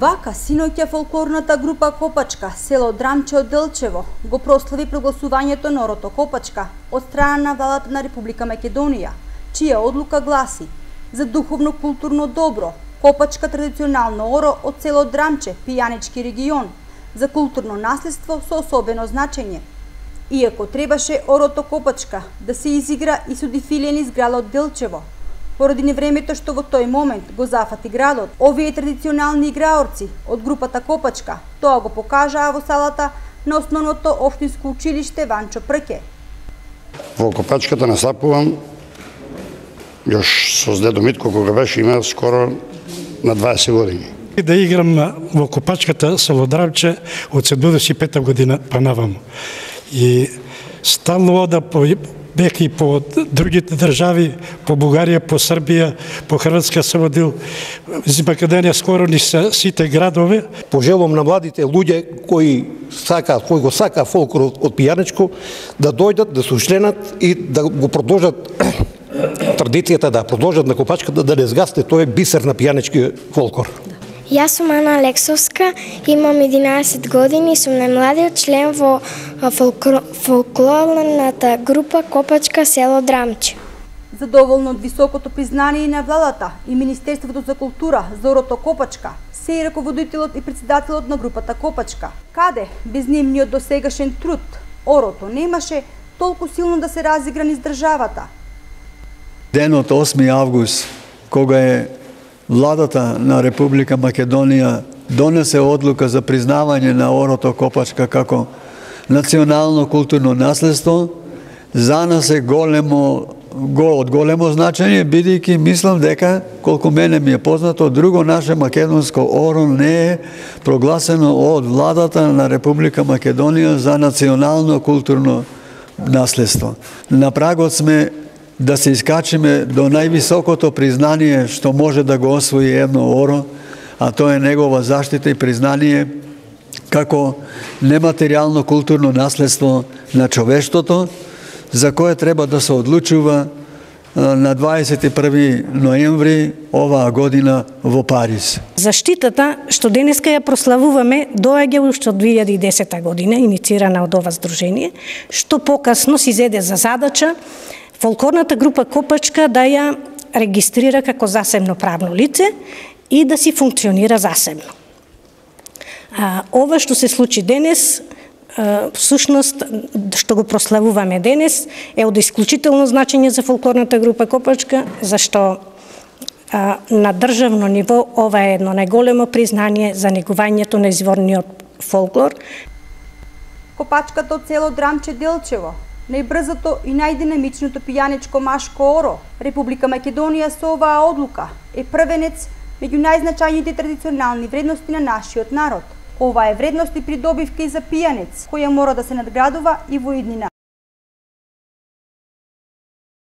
Вака, синоќа фолклорната група Копачка, село Драмче од Делчево, го прослави прогласувањето на орото Копачка од страна на владата на Република Македонија, чија одлука гласи: за духовно-културно добро, Копачка традиционално оро од село Драмче, пијанички регион, за културно наследство со особено значење. Иако требаше орото Копачка да се изигра и со дефиле низ градот Делчево, поради невремето што во тој момент го зафати градот, овие традиционални играорци од групата Копачка тоа го покажаа во салата на основното општинско училиште Ванчо Прке. Во Копачката настапувам још со дедо Митко кога беше има скоро на 20 години. Да играм во Копачката село Драмче од 75 година па наваму. И стално ода бех и по другите држави, по Бугарија, по Србија, по Хрватска се водил. Из Македонија скоро ни се сите градове. Пожелувам на младите луѓе кои го сака фолклор од пијаничко да дојдат, да се учленат и да го продолжат традицијата, да продолжат на Копачката, да не згасне тој бисер на пијанички фолклор. Јас сум Ана Алексовска, имам 11 години и сум најмладиот член во фолклорната група Копачка село Драмче. Задоволно од високото признание на владата и Министерството за култура за орото Копачка, се и раководителот и председателот на групата Копачка, каде без нивниот досегашен труд орото немаше толку силно да се разигра низ државата. Денот 8 август, кога е владата на Република Македонија донесе одлука за признавање на орото Копачка како национално културно наследство, за нас е од големо значење, бидејќи мислам дека, колку мене ми е познато, друго наше македонско оро не е прогласено од владата на Република Македонија за национално културно наследство. На прагот сме да се искачиме до највисокото признание што може да го освои едно оро, а тоа е негова заштита и признание како нематеријално културно наследство на човештвото, за кое треба да се одлучува на 21 ноември оваа година во Париз. Заштитата што денеска ја прославуваме доаѓа уште од 2010 година, иницирана од ова здружение, што покасно си зеде за задача фолклорната група Копачка да ја регистрира како засебно правно лице и да си функционира засебно. Ова што се случи денес, всушност што го прославуваме денес, е од исклучително значење за фолклорната група Копачка, зашто на државно ниво ова е едно најголемо признание за негувањето на изворниот фолклор. Копачката од село Драмче Делчево, најбрзото и најдинамичното пијаничко машко оро, Република Македонија со оваа одлука е првенец меѓу најзначајните традиционални вредности на нашиот народ. Ова е вредност и придобивка и за пијанец, која мора да се надградува и во иднина.